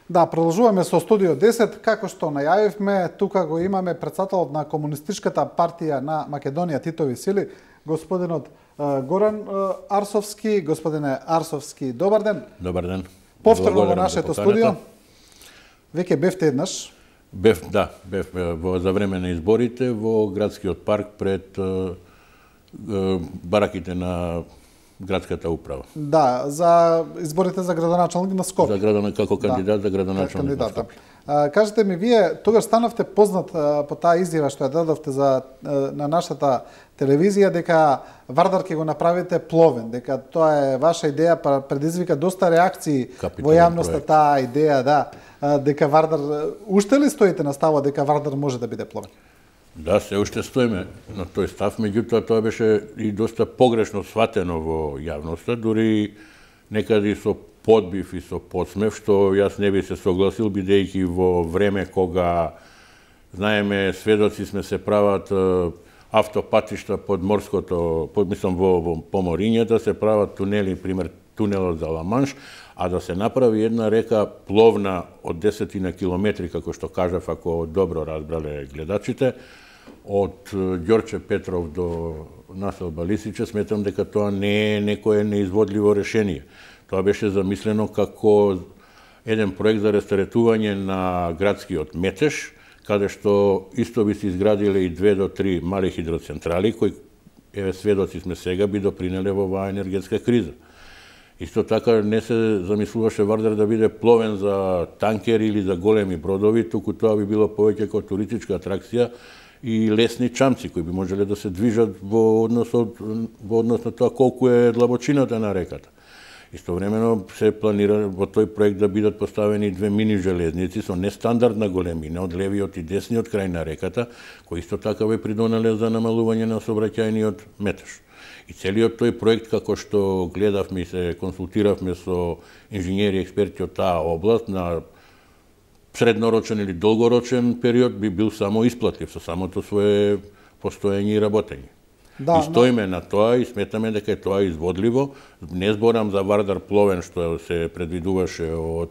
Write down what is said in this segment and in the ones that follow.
Да, продолжуваме со Студио 10. Како што најавивме, тука го имаме председателот на Комунистичката партија на Македонија Титови сили, господинот Горан Арсовски. Господине Арсовски, добар ден. Добар ден. Повторно во нашето студио. Веќе бевте еднаш. Бев за време на изборите во градскиот парк пред бараките на градската управа. Да, за изборите за градоначалник на Скопје. Како кандидат за градоначалник на Скопје. Кажете ми, вие тогаш станавте познат по таа изјава што ја дадовте на нашата телевизија дека Вардар ќе го направите пловен, дека тоа е ваша идеја, предизвика доста реакции во јавноста таа идеја, да, дека Вардар, уште ли стоите на ставот дека Вардар може да биде пловен? Да, се уште стоиме на тој став, меѓутоа тоа беше и доста погрешно сватено во јавноста, дури некаде со подбив и со подсмев, што јас не би се согласил, бидејќи во време кога, знаеме, сведоци сме се прават автопатишта под морското, во поморињата, се прават тунели, пример тунелот за Ла-Манш, а да се направи една река пловна од 10 километри, како што кажав, ако добро разбрале гледачите, од Ѓорче Петров до населба Лисиче, сметам дека тоа не е некое неизводливо решение. Тоа беше замислено како еден проект за рестаретување на градскиот метеж, каде што исто би се изградиле и 2 до 3 мали хидроцентрали, кои, еве, сведоци сме сега, би допринеле во оваа енергетска криза. Исто така не се замислуваше Вардар да биде пловен за танкери или за големи бродови, туку тоа би било повеќе како туристичка атракција и лесни чамци кои би можеле да се движат во однос на тоа колку е длабочината на реката. Истовремено се планира во тој проект да бидат поставени 2 мини железници со нестандардна големина од левиот и десниот крај на реката, кои исто така би придонеле за намалување на сообраќајниот метеж. И целиот тој проект, како што гледавме и се консултиравме со инженери и експерти од таа област, на среднорочен или долгорочен период би бил само исплатлив со самото свое постоење и работење. Да, и стоиме на тоа и сметаме дека е тоа изводливо. Не зборам за Вардар пловен што се предвидуваше од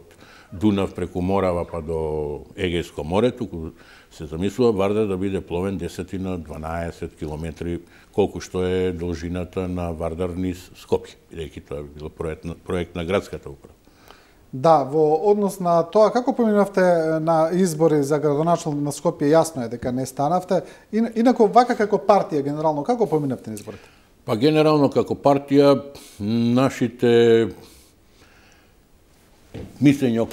Дунав преку Морава па до Егејско море, туку се замислува Вардар да биде пловен 10 на 12 километри, колку што е должината на Вардар низ Скопје, бидејќи тоа би било проект на градската управа. Да, во однос на тоа, како поминавте на избори за градоначалник на Скопје, јасно е дека не станавте. Инако, вака како партија, генерално, како поминавте на изборите? Па, генерално, како партија, нашите мислења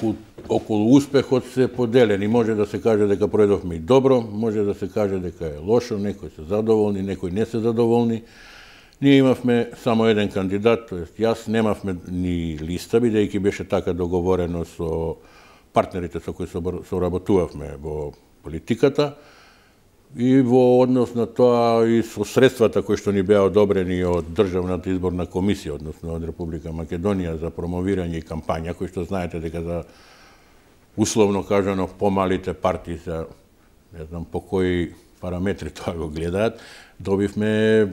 околу успехот се поделени. Може да се каже дека пројдовме и добро, може да се каже дека е лошо, некои се задоволни, некои не се задоволни. Ние имавме само еден кандидат, тоест јас немавме ни листа, бидејќи беше така договорено со партнерите со кои соработувавме во политиката и во однос на тоа и со средствата кои што ни беа одобрени од Државната изборна комисија, односно од Република Македонија за промовирање и кампања, кои што знаете дека за условно кажано помалите партии се, не знам по кои параметри тоа го гледаат, добивме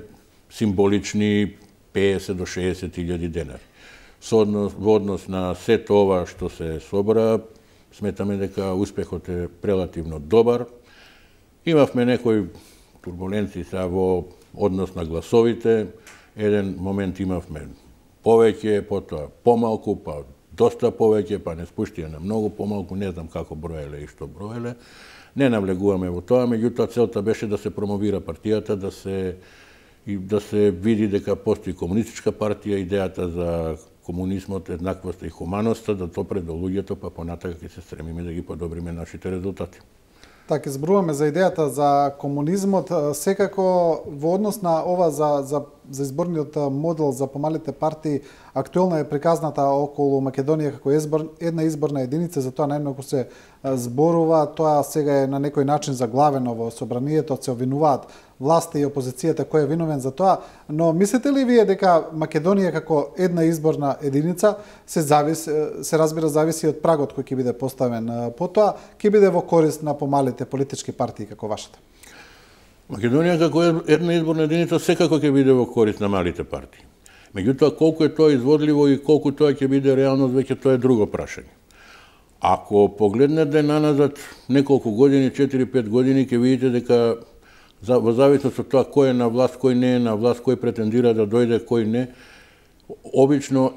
символични 50 до 60 илјади денари. Во однос на сето ова што се собра, сметаме дека успехот е релативно добар. Имавме некои турбуленции во однос на гласовите. Еден момент имавме повеќе, потоа помалку, па доста повеќе, па не спуштија на многу помалку, не знам како броеле и што броеле. Не навлегуваме во тоа, меѓутоа целта беше да се промовира партијата, да се види дека постои комунистичка партија, идејата за комунизмот, еднаквоста и хуманоста, да то пред луѓето, па понатака ќе се стремиме да ги подобриме нашите резултати. Така, зборуваме за идејата за комунизмот, секако во однос на ова за изборниот модел за помалите партии, актуелна е приказната околу Македонија како една изборна единица, за тоа најмногу се зборува, тоа сега е на некој начин заглавено во собранието, се обвинуваат власта и опозицијата кој е виновен за тоа, но мислите ли вие дека Македонија како една изборна единица се разбира зависи од прагот кој ќе биде поставен потоа, ќе биде во корист на помалите политички партии како вашата? Македонија како една изборна единица секако ќе биде во корист на малите партии. Меѓутоа, колку е тоа изводливо и колку тоа ќе биде реалност, веќе тоа е друго прашање. Ако погледнете наназад неколку години, 4-5 години, ќе видите дека во зависност од тоа кој е на власт, кој не е на власт, кој претендира да дојде, кој не, обично,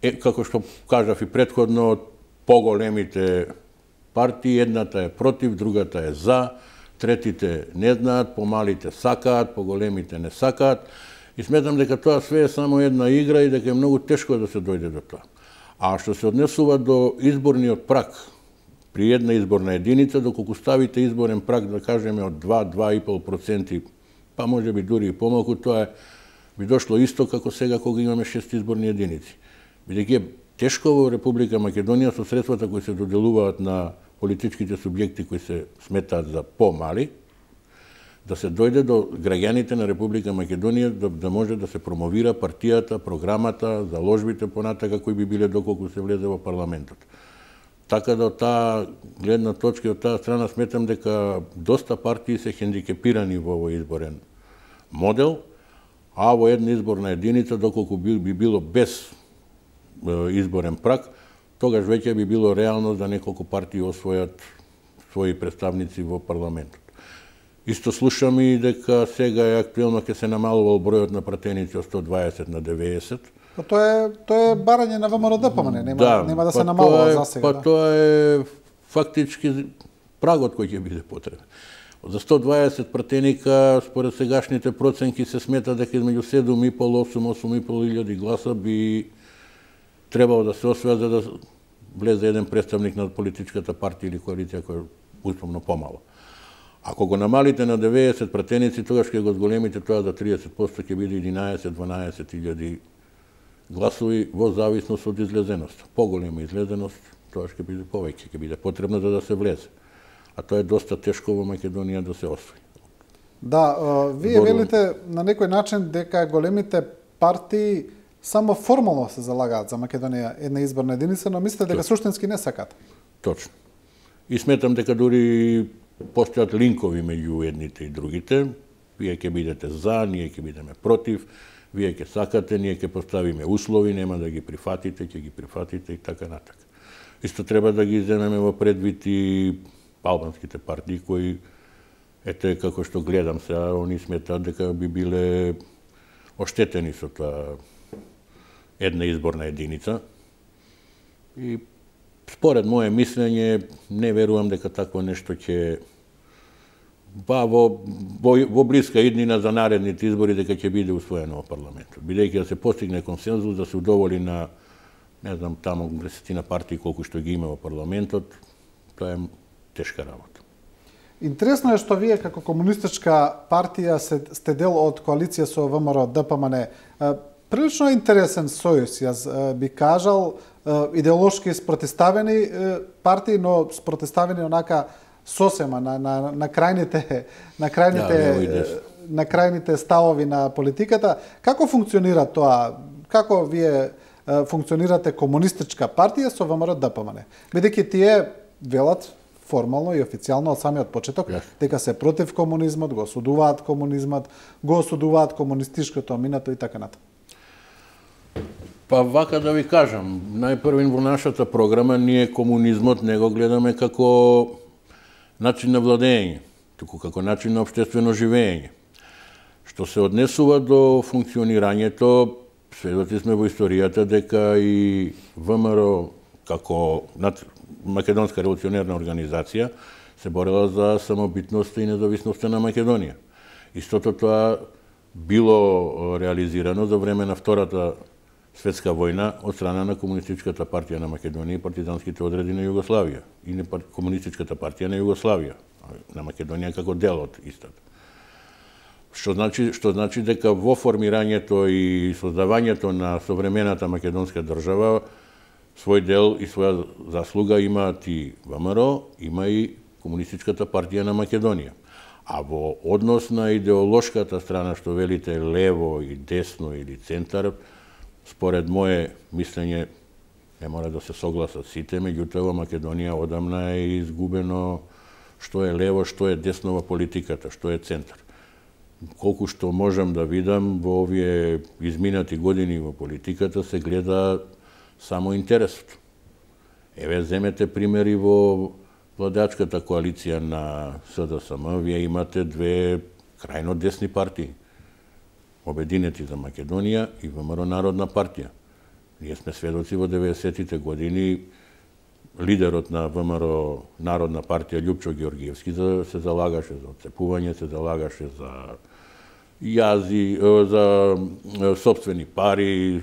како што кажав и претходно, поголемите партии, едната е против, другата е за, третите не знаат, помалите сакаат, поголемите не сакаат. И сметам дека тоа све е само една игра и дека е многу тешко да се дојде до тоа. А што се однесува до изборниот праг, при една изборна единица, доколку ставите изборен праг, да кажеме, од 2-2,5%, па може би дури и помалку, тоа би дошло исто како сега кога имаме 6 изборни единици. Бидејќи е тешко во Република Македонија со средствата кои се доделуваат на политичките субјекти кои се сметаат за помали, да се дојде до граѓаните на Република Македонија да може да се промовира партијата, програмата, заложбите понатака кои би биле доколку се влезе во парламентот. Така да од таа гледна точка и од таа страна сметам дека доста партии се хендикепирани во овој изборен модел, а во една изборна единица, доколку би било без изборен праг, тогаш веќе би било реално да неколку партии освојат своји представници во парламентот. Исто слушам и дека сега е актуелно ќе се намалувал бројот на пратеници од 120 на 90. Тоа е барање на ВМРО-ДПМНЕ, нема да се намалува за сега. Па тоа е фактички прагот кој ќе биде потребен. За 120 пратеника, според сегашните проценки, се смета дека измеѓу 7,5-8,5 илјади гласа би требало да се освојат за да влезе еден представник на политичката партија или коалиција која е условно помало. Ако го намалите на 90 пратеници, тогаш ќе го зголемите тоа за 30% ќе биде 11-12 илјади гласови во зависност од излезеност. Поголема излезеност, тоа ќе биде повеќе, ќе биде потребно за да се влезе. А тоа е доста тешко во Македонија да се освои. Да, вие велите на некој начин дека големите партии само формално се залагаат за Македонија една изборна единица, но мислите дека суштински не сакат. Точно. И сметам дека дури постојат линкови меѓу едните и другите. Вие ќе бидете за, ние ќе бидеме против, вие ќе сакате, ние ќе поставиме услови, нема да ги прифатите, ќе ги прифатите и така натака. Исто треба да ги земеме во предвид и албанските партии кои, ете како што гледам сега, они сметаат дека би биле оштетени со тоа една изборна единица. И според моје мислење, не верувам дека такво нешто ќе во блиска иднина за наредните избори дека ќе биде усвоено во парламентот. Бидејќи да се постигне консензус, да се удоволи на, не знам, таму 10 партии колку што ги има во парламентот, тоа е тешка работа. Интересно е што вие како комунистичка партија сте дел од коалиција со ВМРО-ДПМНЕ. Прилично интересен сојуз, јас би кажал, идеолошки спротиставени партии, но спротиставени онака сосема на крајните ставови на политиката. Како функционира тоа? Како вие функционирате комунистичка партија со ВМРО-ДПМНЕ? Бидејќи тие велат формално и официјално од самиот почеток дека се против комунизмот, го осудуваат комунизмот, го осудуваат комунистичкото минато и така натаму. Па вака да ви кажам, најпрвин во нашата програма ние комунизмот не го гледаме како начин на владење, туку како начин на општествено живење. Што се однесува до функционирањето, сведоци сме во историјата дека и ВМРО како Македонска револуционерна организација се борела за самобитноста и независноста на Македонија. Истото тоа било реализирано за време на Втората светска војна од страна на Комунистичката партија на Македонија и партизанските одреди на Југославија и на Комунистичката партија на Југославија, на Македонија како дел од истата. Што значи дека во формирањето и создавањето на современата македонска држава свој дел и своја заслуга имаат и ВМРО, има и Комунистичката партија на Македонија. А во однос на идеолошката страна, што велите лево и десно или центар, според моје мислење, не мора да се согласат сите, меѓутоа во Македонија одамна е изгубено што е лево, што е десно во политиката, што е центар. Колку што можам да видам во овие изминати години во политиката се гледа само интересот. Еве, земете примери во владеачката коалиција на СДСМ, вие имате две крајно десни партии. Обединети за Македонија и ВМРО Народна партија. Ние сме сведоци во 90-тите години лидерот на ВМРО Народна партија Љупчо Георгиевски се залагаше за отцепување, се залагаше за јази, за сопствени пари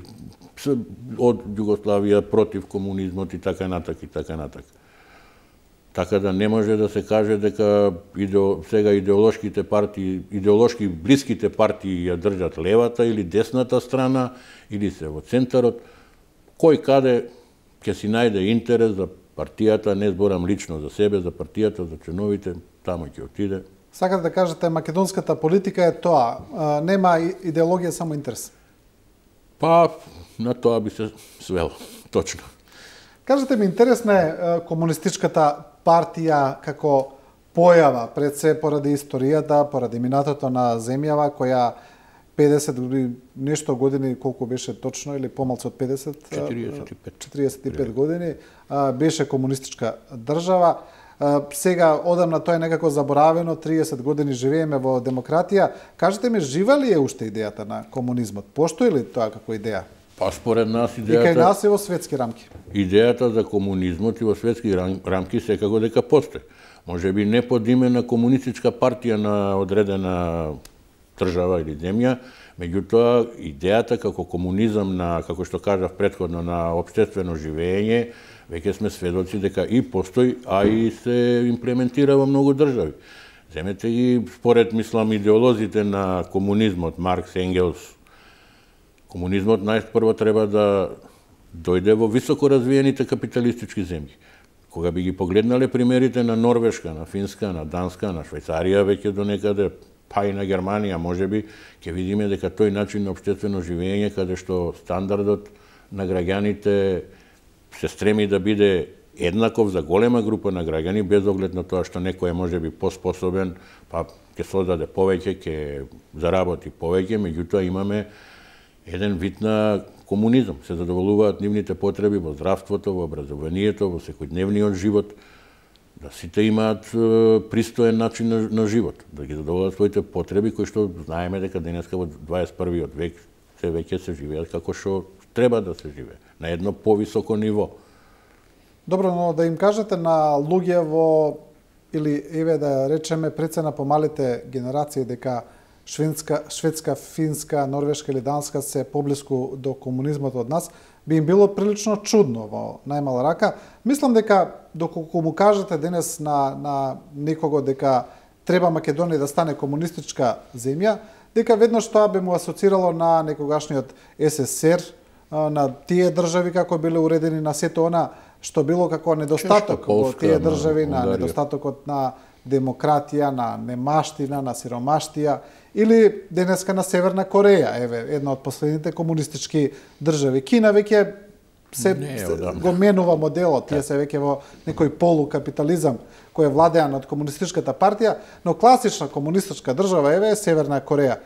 од Југославија против комунизмот и така натак и така натак. Така да не може да се каже дека сега идеолошките партии, идеолошки блиските партии ја држат левата или десната страна, или се во центарот. Кој каде ќе си најде интерес за партијата, не зборам лично за себе, за партијата, за членовите, таму ќе отиде. Сакате да кажете, македонската политика е тоа, нема идеологија, само интерес? Па, на тоа би се свело, точно. Кажете ми, интересна е комунистичката партија како појава, пред се поради историјата, поради минатото на земјава, која 50 нешто години, колку беше точно, или помалку од 50? 45 години, беше комунистичка држава. Сега, одамна тоа е некако заборавено, 30 години живееме во демократија. Кажете ми, жива ли е уште идејата на комунизмот? Постои ли тоа како идеја? Па според нас идејата... И кај нас е во светски рамки. Идејата за комунизмот и во светски рамки секако дека постои. Може би не под име на комунистичка партија на одредена држава или земја, меѓутоа идејата како комунизам на, како што кажав претходно, на општествено живење, веќе сме сведоци дека и постои, а и се имплементира во многу држави. Земете ги, според, мислам, идеолозите на комунизмот, Маркс, Енгелс, комунизмот најпрво треба да дојде во високо развиените капиталистички земји. Кога би ги погледнале примерите на Норвешка, на Финска, на Данска, на Швајцарија, веќе до некаде, па и на Германија, можеби, ќе видиме дека тој начин на општествено живење, каде што стандардот на граѓаните се стреми да биде еднаков за голема група на граѓани, без оглед на тоа што некој е можеби поспособен, па ќе создаде повеќе, ќе заработи повеќе, меѓутоа имаме еден вид на комунизам. Се задоволуваат нивните потреби во здравството, во образованието, во секојдневниот живот, да сите имаат пристоен начин на живот, да ги задоволат своите потреби, кои што знаеме дека денеска во 21. век се веќе се живеат како што треба да се живее, на едно повисоко ниво. Добро, но да им кажете на луѓе во, или еве да речеме прецена помалите генерации, дека шведска, финска, норвешка или данска се поблиску до комунизмот од нас, би им било прилично чудно во најмала рака. Мислам дека доколку му кажете денес на некого дека треба Македонија да стане комунистичка земја, дека веднаш тоа би му асоцирало на некогашниот СССР, на тие држави како биле уредени, на сето она што било како недостаток во тие држави, на недостатокот на демократија, на немаштина, на сиромаштија, или денеска на Северна Кореја, еве, една од последните комунистички држави. Кина веќе го менува моделот, тие се веќе во некој полукапитализам кој е владеан од комунистичката партија, но класична комунистичка држава еве е Северна Кореја.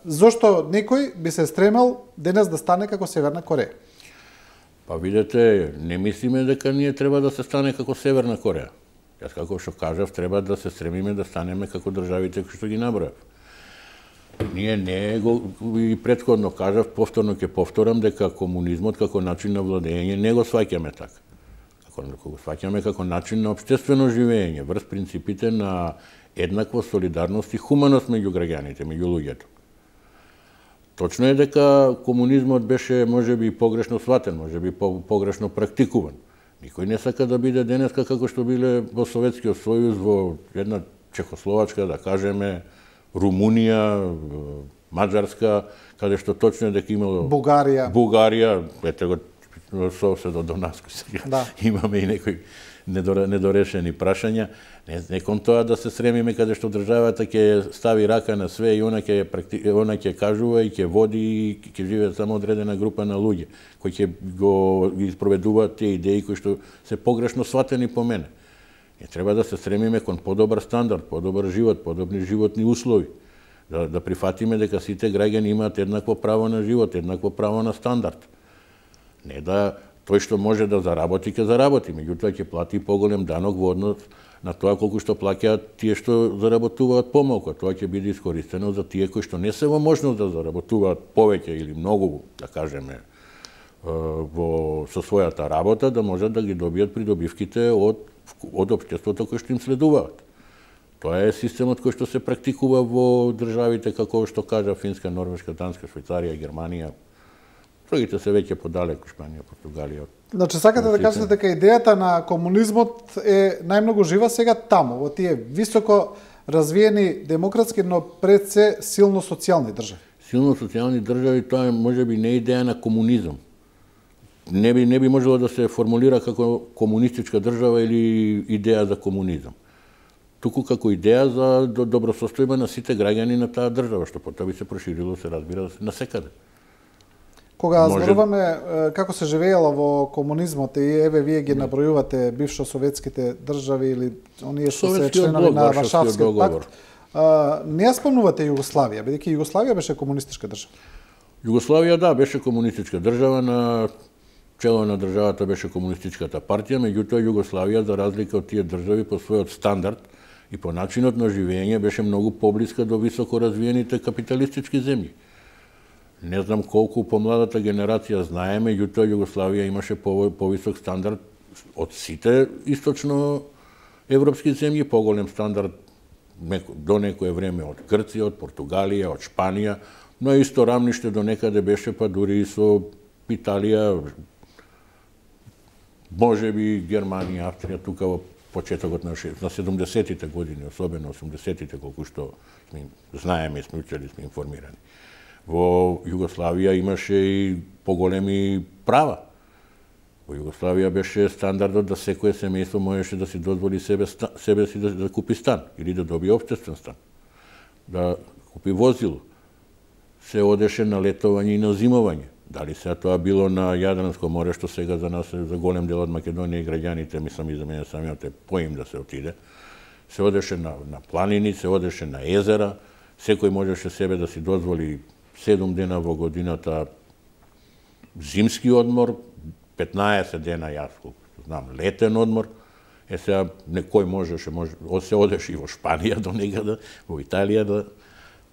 Зошто некој би се стремел денес да стане како Северна Кореја? Па видете, не мислиме дека ние треба да се стане како Северна Кореја. Јас како што кажав, треба да се стремиме да станеме како државите кои што ги набројав. Ние не го и претходно кажав, повторно ќе повторам дека комунизмот како начин на владење не го сваќаме така. Како го сваќаме како начин на општествено живење, врз принципите на еднаква солидарност и хуманост меѓу граѓаните, меѓу луѓето. Точно е дека комунизмот беше можеби погрешно сватен, можеби погрешно практикуван. Никој не сака да биде денеска како што биле во Советскиот сојуз, во една Чехословачка, да кажеме, Румунија, Маđарска, каде што точно е дека имало Бугарија, ете го соседот до нас кој сега имаме и некои недорешени прашања. Не кон тоа да се сремиме каде што државата ќе стави рака на све и она ќе кажува и ќе води и ќе живее само одредена група на луѓе кои ќе го испроведуваат тие идеи кои што се погрешно сватени по мене. Треба да се стремиме кон подобар стандард, подобар живот, подобни животни услови. Да прифатиме дека сите граѓани имаат еднакво право на живот, еднакво право на стандард. Не да Тој што може да заработи, ќе заработи, меѓутоа ќе плати поголем данок во однос на тоа колку што плаќаат тие што заработуваат помалку. Тоа ќе биде искористено за тие кои што не се во можност да заработуваат повеќе или многу, да кажеме, со својата работа, да можат да ги добијат придобивките од општеството кој што им следуваат. Тоа е системот кој што се практикува во државите како што кажа Финска, Норвешка, Данска, Швајцарија, Германија. Другите се веќе подалеку, Шпанија, Португалија. Значи, сакате да кажете дека идејата на комунизмот е најмногу жива сега таму, во тие високо развиени демократски, но пред се силно социјални држави. Силно социјални држави, тоа е можеби не идеја на комунизам. Не би можело да се формулира како комунистичка држава или идеја за комунизам. Туку како идеја за добросостојба на сите граѓани на таа држава, што потоа би се проширило, се разбира, на секаде. Кога зборуваме како се живеело во комунизмот и еве вие ги набројувате бившо советските држави или оние што се членови на Варшавскиот пакт, не ја спомнувате Југославија, бидејќи Југославија беше комунистичка држава. Југославија, да, беше комунистичка држава, на чело на државата беше комунистичката партија, меѓутоа Југославија, за разлика од тие држави, по својот стандард и по начинот на живење беше многу поблиска до високо развиените капиталистички земји. Не знам колку помладата генерација знае, меѓутоа Југославија имаше повисок стандард од сите источно европски земји, поголем стандард до некое време од Грција, од Португалија, од Шпанија, но исто рамниште до некаде беше па дури и со Италија, можеби Германија, Австрија, тука во почетокот на 70-тите години, особено 80-тите, колку што знаеме, сме учели, сме информирани. Во Југославија имаше и поголеми права. Во Југославија беше стандардот да секое семејство можеше да си дозволи себе си да купи стан или да добие општествен стан, да купи возило. Се одеше на летовање и на зимовање. Дали сега тоа било на Јадранско море, што сега за нас, за голем дел од Македонија и граѓаните, мислам и за мене самиот е поим да се отиде. Се одеше на планини, се одеше на езера, секој можеше себе да си дозволи 7 дена во годината зимски одмор, 15 дена јас, знам, летен одмор. Сега некој можеше, се одеше и во Шпанија до некаде, во Италија,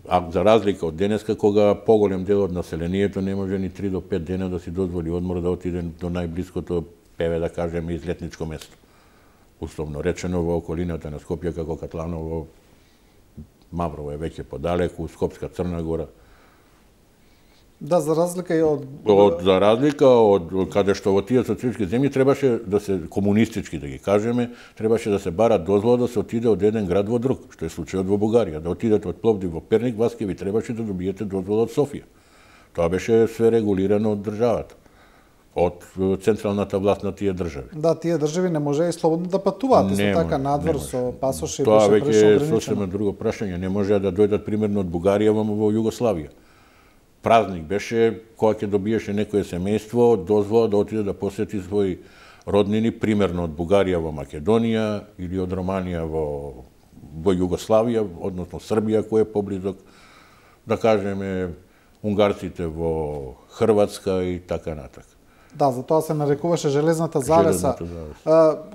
а за разлика од денеска, кога поголем дел од населението не може ни 3 до 5 дена да си дозволи одмор да отиде до најблиското, да кажеме, излетничко место. Условно речено во околината на Скопје, како Катланово, Маврово е веќе подалеку, Скопска, Црна Гора. Да, за разлика и од каде што во тие социјалистички земји требаше да се комунистички, да ги кажеме, требаше да се бара дозвола да се отиде од еден град во друг, што е случајот во Бугарија. Да отидете од Пловдив во Перник, вас ќе ви требаше да добиете дозвола од Софија. Тоа беше све регулирано од државата, од централната власт на тие држави. Да, тие држави не може и слободно да патуваат, исто така надвор со пасоши беше прешо ограничено. Тоа веќе е сосема друго прашање, не може да дојдат примерно од Бугарија во Југославија. Празник беше кога ќе добиеше некое семејство дозвола да отиде да посети своји роднини, примерно од Бугарија во Македонија или од Романија во Југославија, односно Србија кој е поблизок, да кажеме унгарците во Хрватска и така натака. Да, за тоа се нарекуваше железната завеса.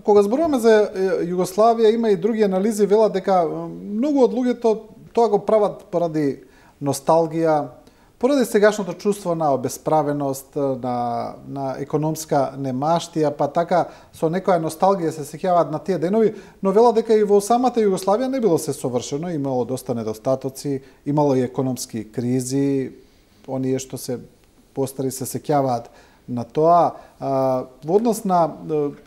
Кога зборуваме за Југославија, има и други анализи, велат дека многу од луѓето тоа го прават поради носталгија, поради сегашното чувство на обесправеност, на економска немаштија, па така со некоја носталгија се сеќаваат на тие денови, но вела дека и во самата Југославија не било се совршено, имало доста недостатоци, имало и економски кризи, оние што се постари се сеќаваат на тоа. Во однос на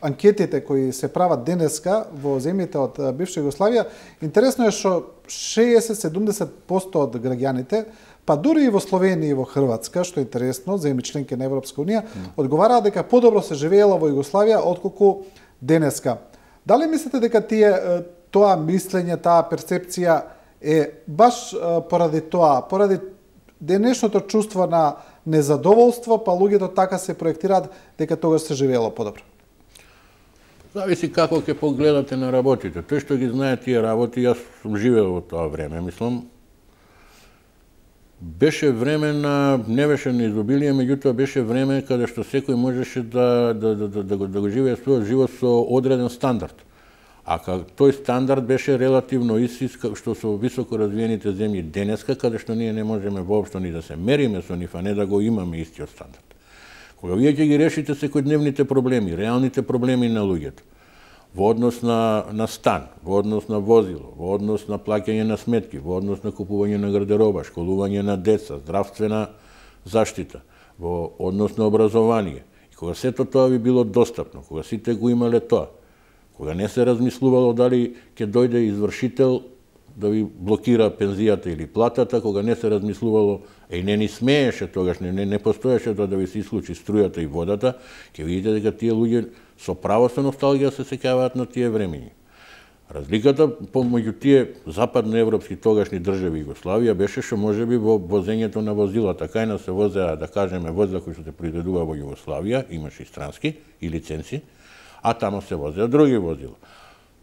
анкетите кои се прават денеска во земјите од бивша Југославија, интересно е што 60-70% од граѓаните, па дури и во Словенија и во Хрватска, што е интересно, земји членки на Европска унија, одговараат дека подобро се живеело во Југославија отколку денеска. Дали мислите дека тоа мислење, таа перцепција е баш поради тоа, поради денешното чувство на незадоволство, па луѓето така се проектираат дека тогаш се живеело подобро? Зависи како ќе погледате на работите. Тој што ги знае тие работи, јас сум живеел во тоа време, мислам, Беше време не беше на изобилие, меѓутоа беше време каде што секој можеше да го живее својот живот со одреден стандард. А тој стандард беше релативно ист што со високо развиените земји денеска, каде што ние не можеме воопшто ни да се мериме со нив, а не да го имаме истиот стандард. Кога вие ќе ги решите секојдневните проблеми, реалните проблеми на луѓето, во однос на стан, во однос на возило, во однос на плаќање на сметки, во однос на купување на гардероба, школување на деца, здравствена заштита, во однос на образование. И кога сето тоа ви било достапно, кога сите го имале тоа, кога не се размислувало дали ќе дојде извршител да ви блокира пензијата или платата, кога не се размислувало, не ни смееше тогаш, не постоеше да ви се исклучи струјата и водата, ќе видите дека тие луѓе со право со носталгија се сеќаваат на тие времења. Разликата помеѓу тие западноевропски тогашни држави Југославија беше што можеби во возењето на возилата. Кајна се возеа, да кажеме, возила кои што се произведува во Југославија, имаше и странски и лиценци, а тамо се возеа други возила.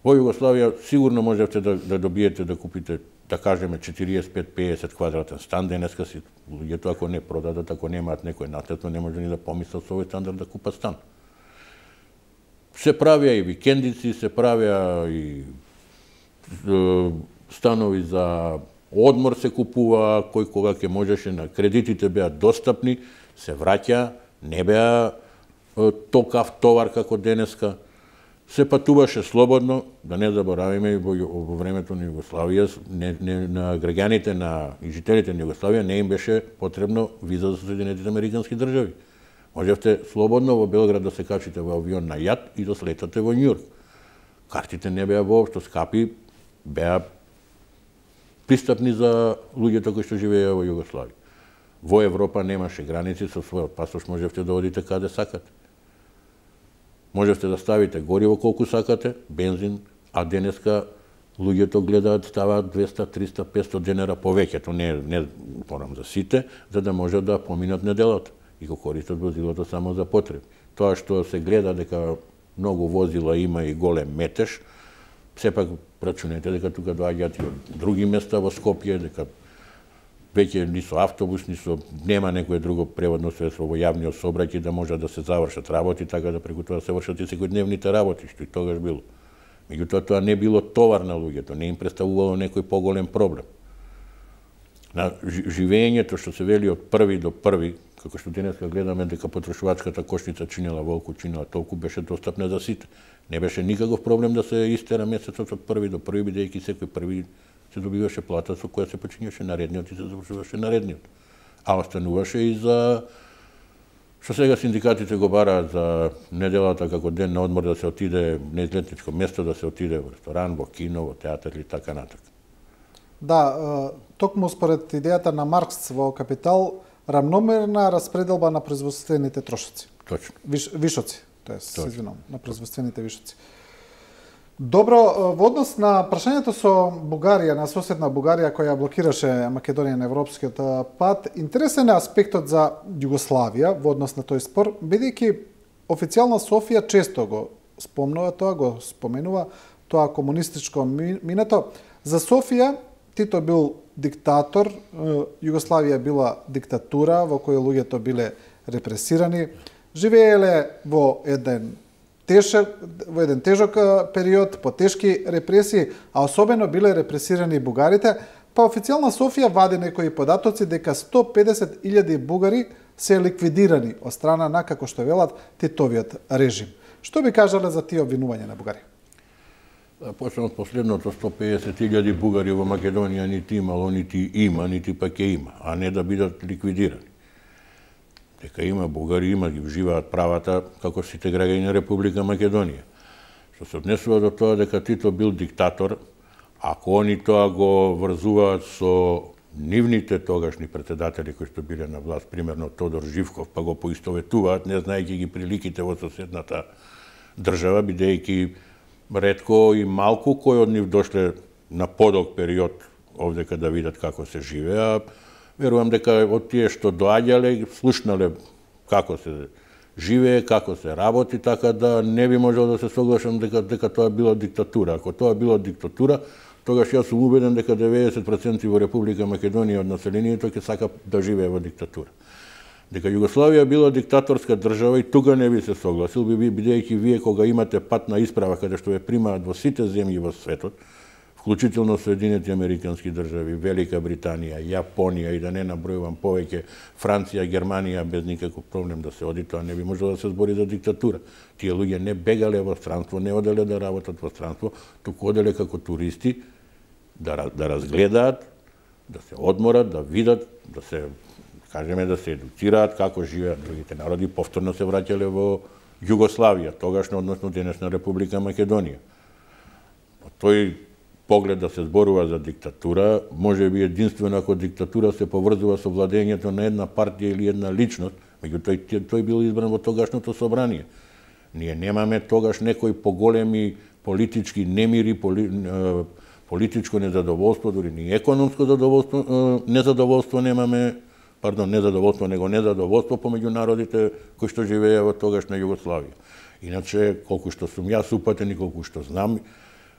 Во Југославија сигурно можете да добиете да купите, да кажеме, 45-50 квадратен стан. Денеска си луѓето ако не продадат, ако немаат некој наследство, не може ни да помислат со овој стандард да купат стан. Се правеа и викендици, се правеа и станови за одмор се купува, кој кога ќе можеше, на кредитите беа достапни, се враќа, не беа токав товар како денеска. Се патуваше слободно, да не заборавиме, во времето на Југославија, на граѓаните и жителите на Југославија не им беше потребно виза за Соединетите Американски држави. Можевте слободно во Белград да се качите во авион на јат и да слетате во Њујорк. Картите не беа воопшто скапи, беа пристапни за луѓето кои што живееа во Југославија. Во Европа немаше граници, со својот пасош можевте да одите каде сакате. Можевте да ставите гориво колку сакате, бензин, а денеска луѓето гледаат, ставаат 200, 300, 500 денара повеќе, не порам за сите, за да можат да поминат неделата и го користат возилото само за потреби. Тоа што се гледа дека многу возила има и голем метеж, сепак рачунете дека тука доаѓаат и од други места во Скопје, дека веќе ни со автобус, ни со нема некое друго преводно средство во јавниот сообраќај да можат да се завршат работи, така да преку тоа се вршат и секојдневните работи, што и тогаш било. Меѓутоа тоа не било товар на луѓето, не им представувало некој поголем проблем. На живењето што се вели од први до први, како што денеска гледаме дека потрошувачката кошница чинела волку, чинела толку, беше достапна за сите. Не беше никаков проблем да се истера месецот од први до први, бидејќи секој први се добиваше плата со која се почињаше наредниот и се завршуваше наредниот. А остануваше и за што сега синдикатите го бараат за неделата како ден на одмор, да се отиде на излетничко место, да се отиде во ресторан, во кино, во театар или така натака. Да, токму според идејата на Маркс во Капитал, рамномерна распределба на производствените трошоци. Точно. Вишоци, се извинувам, на производствените вишоци. Добро, во однос на прашањето со Бугарија, на соседна Бугарија која блокираше Македонија на европскиот пат, интересен е аспектот за Југославија во однос на тој спор, бидејќи официјална Софија често го спомнува тоа, го споменува тоа комунистичко минато. За Софија Тито бил диктатор, Југославија била диктатура во која луѓето биле репресирани, живееле во еден тежок период, по тешки репресии, а особено биле репресирани бугарите, па официјална Софија вади некои податоци дека 150.000 бугари се ликвидирани од страна на, како што велат, Титовиот режим. Што би кажале за тие обвинувања на Бугарија? Почнем од последното, 150.000 бугари во Македонија нити имало, нити има, нити пак ќе има, а не да бидат ликвидирани. Дека има бугари, ги живеат правата како сите граѓани на Република Македонија. Што се однесува до тоа дека Тито бил диктатор, ако они тоа го врзуваат со нивните тогашни председатели кои што биле на власт, примерно Тодор Живков, па го поистоветуваат, не знаејќи ги приликите во соседната држава, бидејќи ретко и малку кои од нив дошле на подолг период овдека да видат како се живеа. Верувам дека од тие што доаѓале, слушнале како се живее, како се работи, така да не би можел да се соглашам дека тоа била диктатура. Ако тоа била диктатура, тогаш јас сум убеден дека 90% во Република Македонија од населението ќе сака да живее во диктатура. Дека Југославија била диктаторска држава и тука не би се согласил, бидејќи вие кога имате патна исправа каде што ве примаат во сите земји во светот, вклучително Соединети Американски држави, Велика Британија, Јапонија и да не набројувам повеќе, Франција, Германија, без никаков проблем да се оди, тоа не би можело да се збори за диктатура. Тие луѓе не бегале во странство, не оделе да работат во странство, туку оделе како туристи да разгледаат, да се одморат, да видат, да се кажеме да се едуцираат како живеат другите народи, повторно се враќале во Југославија, тогашна, односно денешна Република Македонија. Тој поглед да се зборува за диктатура, може би единствено ако диктатура се поврзува со владењето на една партија или една личност, меѓутоа тој бил избран во тогашното собрание. Ние немаме тогаш некои поголеми политички немири, политичко незадоволство, дури ни економско незадоволство немаме, него незадоволство помеѓу народите кои што живееа во тогашна Југославија. Иначе, колку што сум јас упатен и колку што знам,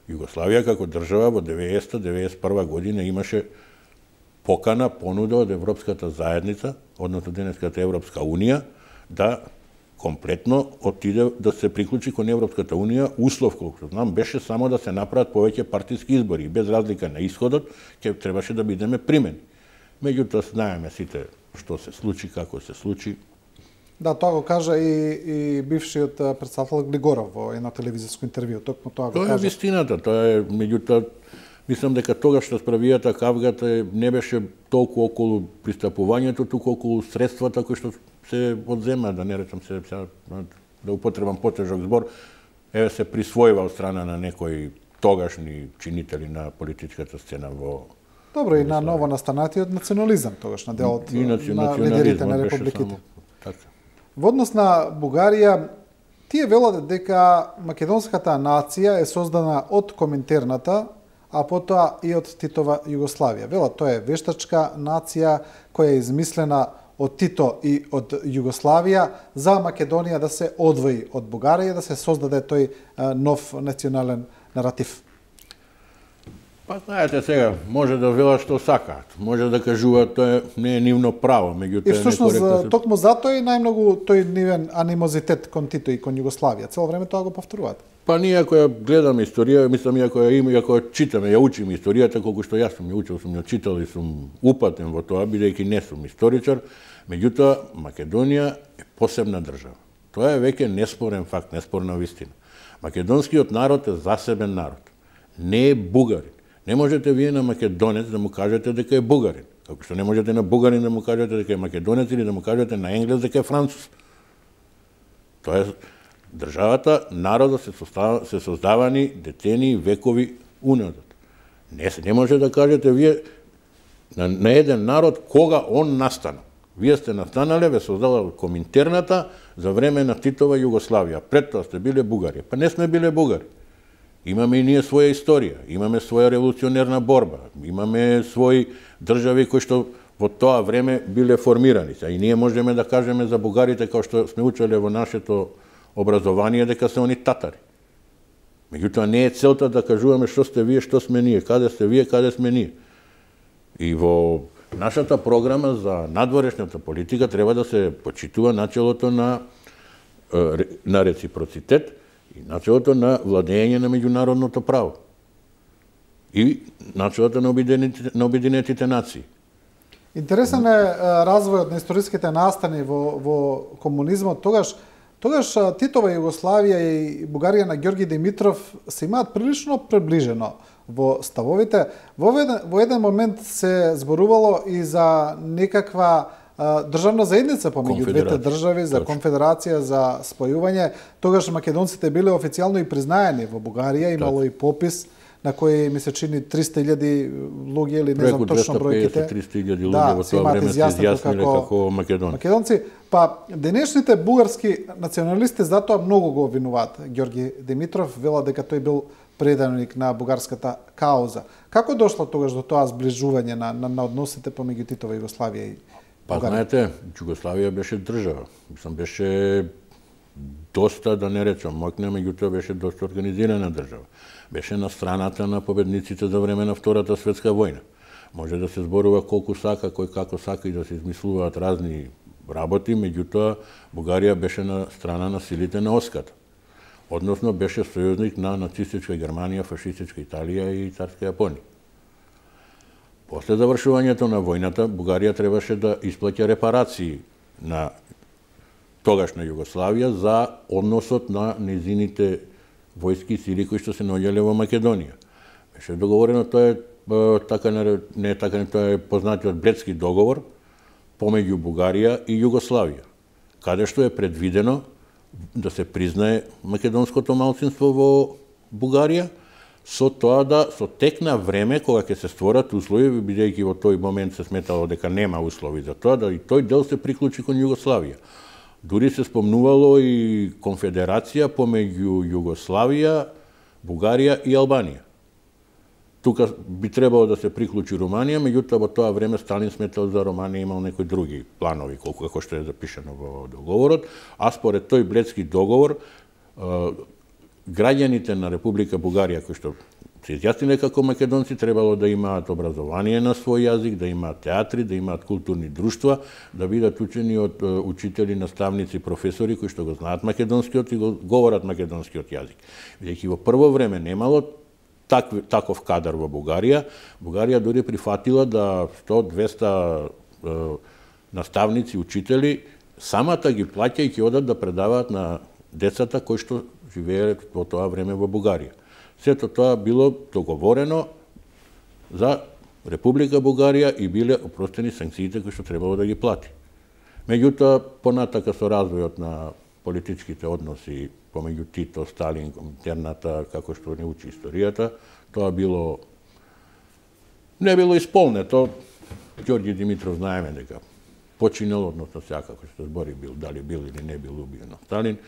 Југославија како држава во 90-91 година имаше покана, понуда од Европската заедница, односно денеската Европска унија, да комплетно отиде да се приклучи кон Европската унија. Услов, колку знам, беше само да се направат повеќе партиски избори. Без разлика на исходот, ќе требаше да бидеме примени. Меѓутоа, знаеме сите што се случи, како се случи. Да, тоа го кажа и бившиот претседател Глигоров во едно телевизиско интервју. Токму тоа го кажа. Тоа е вистината, тоа е, меѓутоа, мислам дека тогаш расправијата кавгата не беше толку околу пристапувањето, туку околу средствата кои што се одзема, да не речам се, да употребам потежок збор, се присвојува од страна на некои тогашни чинители на политичката сцена во Добро, и на ново настанатиот национализам тогаш на делот на лидерите на републиките. Во однос на Бугарија, тие велат дека македонската нација е создана од Коминтерната, а потоа и од Титова Југославија. Велат, тоа е вештачка нација која е измислена од Тито и од Југославија за Македонија да се одвои од Бугарија, да се создаде тој нов национален наратив. Па знаете сега, може да велат што сакаат, може да кажуваат тоа не е нивно право, меѓутоа и всушност токму затоа и најмногу тој нивен анимозитет кон Тито и кон Југославија, цело време тоа го повторуваат. Па ние ако ја гледаме историја, мислам ако ја читаме, ја учиме историјата, колку што јас сум ја учил, сум ја читал и сум упатен во тоа, бидејќи не сум историчар, меѓутоа Македонија е посебна држава. Тоа е веќе неспорен факт, неспорна вистина. Македонскиот народ е засебен народ. Не е бугарин. Не можете вие на македонец да му кажете дека е бугарин. Како што не можете на бугарин да му кажете дека е македонец или да му кажете на енглез дека е француз. Тоа е државата, народот се создавани детени векови уназад. Не може да кажете вие на еден народ кога он настана. Вие сте настанале, ве создала Коминтерната за време на Титова Југославија. Пред тоа сте биле бугари. Па не сме биле бугари. Имаме и ние своја историја, имаме своја револуционерна борба, имаме своји држави кои што во тоа време биле формирани. И ние можеме да кажеме за бугарите, како што сме учеле во нашето образование, дека се они татари. Меѓутоа не е целта да кажуваме што сте вие, што сме ние, каде сте вие, каде сме ние. И во нашата програма за надворешната политика треба да се почитува начелото на реципроцитет и начелото на владење на меѓународното право и начелото на Обединетите нации. Интересен е развојот на историските настани во комунизмот. Тогаш Титова Југославија и Бугарија на Ѓорги Димитров се имаат прилично приближено во ставовите. Во еден момент се зборувало и за некаква државна заедница помеѓу двете држави, за конфедерација, за спојување. Тогаш македонците биле официјално и признаени во Бугарија, имало и попис на кој ми се чини 300.000 луѓе или не знам точно бројките. 350-300.000 луѓе во тоа време се изјасниле како македонци. Па денешните бугарски националисти затоа многу го обвинуваат Ѓорги Димитров, вела дека тој бил преданик на бугарската кауза. Како дошло тогаш до тоа зближување на односите помеѓу Титова Југославија и Па знаете, Југославија беше држава. Мислам, беше доста, да не речам моќна, меѓутоа беше доста организирана држава. Беше на страната на победниците за време на Втората светска војна. Може да се зборува колку сака, кој како сака и да се измислуваат разни работи, меѓутоа Бугарија беше на страна на силите на Оската. Односно беше сојузник на нацистичка Германија, фашистичка Италија и царска Јапонија. После завршувањето на војната, Бугарија требаше да исплаќа репарации на тогашна Југославија за односот на нејзините војски и сили кои што се наоѓале во Македонија. Беше договорено, тоа е тоа е познатиот Бледски договор помеѓу Бугарија и Југославија, каде што е предвидено да се признае македонското малцинство во Бугарија, со тоа да со тек на време кога ќе се створат услови, бидејќи во тој момент се сметало дека нема услови за тоа, да и тој дел се приклучи кон Југославија. Дури се спомнувало и конфедерација помеѓу Југославија, Бугарија и Албанија. Тука би требало да се приклучи Руманија, меѓутоа во тоа време Сталин сметал за Руманија имал некои други планови, колку како што е запишано во договорот, а според тој Бледски договор граѓаните на Република Бугарија кои што се изјасниле како македонци требало да имаат образование на свој јазик, да имаат театри, да имаат културни друштва, да бидат учени од учители, наставници, професори кои што го знаат македонскиот и го говорат македонскиот јазик. Бидејќи во прво време немало таков кадар во Бугарија, Бугарија дури прифатила да 100-200 наставници, учители, самата ги плаќа и ќе одат да предаваат на децата кои што живееле во тоа време во Бугарија. Сето тоа било договорено за Република Бугарија и биле опростени санкциите кои што требало да ги плати. Меѓутоа, понатака со развојот на политичките односи помеѓу Тито, Сталин, Коминтерната, како што не учи историјата, тоа не било исполнето. Ѓорѓи Димитров знаеме дека починал, односно секако што збори бил, дали бил или не бил убиен од Сталин.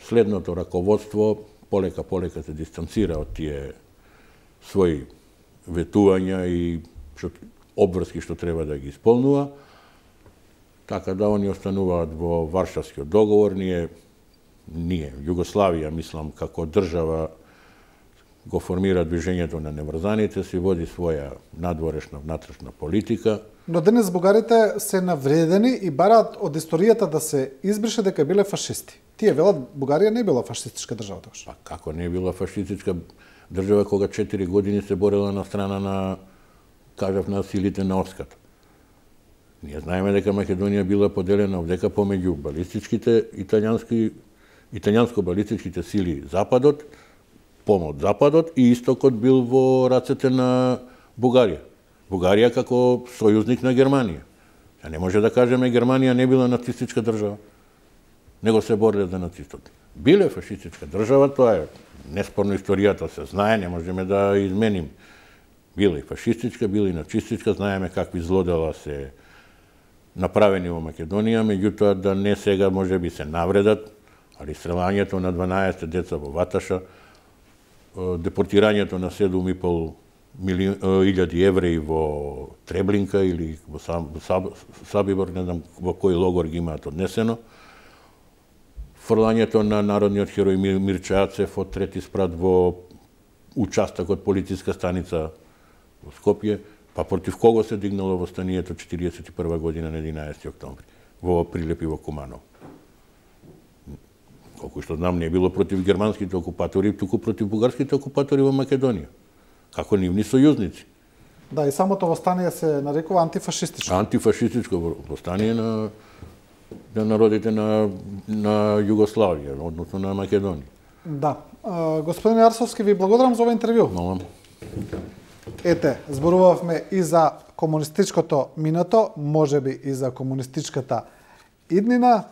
Следното раководство полека се дистанцира од тие своји ветувања и обврски што треба да ги исполнува. Така да они остануваат во Варшавскиот договор, ние, Југославија, мислам, како држава го формира движењето на неврзаните, си води своја надворешна, внатрешна политика. Но денес бугарите се навредени и бараат од историјата да се избрише дека биле фашисти. Тие велат Бугарија не била фашистичка држава тогаш. Па како не била фашистичка држава кога 4 години се борела на страна на, кажав, на силите на Оската. Ние знаеме дека Македонија била поделена овдека помеѓу балистичките италијанско-балистичките сили Западот, помот Западот и Истокот бил во рацете на Бугарија. Бугарија како сојузник на Германија. Не може да кажеме Германија не била нацистичка држава, него се бореле за нацистот. Биле фашистичка држава, тоа е неспорно, историјата се знае, не можеме да изменим. Била и фашистичка, била и нацистичка, знаеме какви злодела се направени во Македонија, меѓутоа да не сега може би се навредат, али стрелањето на 12 деца во Ваташа, депортирањето на 7,5 илјади евреи во Треблинка или во Сабибор, не знам во кој логор ги имаат однесено, фрлањето на народниот херој Мирча Ацев од трети спрат во участок од полициска станица во Скопје, па против кого се дигнало востанието 41 година на 11 октомври во Прилеп и во Куманово. Колку што знам, не било против германските окупатори, туку против бугарските окупатори во Македонија, како нивни сојузници. Да, и самото востание се нарекува антифашистичко. Антифашистичко востание на народите на Југославија, односно на Македонија. Да. Господин Арсовски, ви благодарам за ова интервју. Молам. Ете, зборувавме и за комунистичкото минато, можеби и за комунистичката иднина.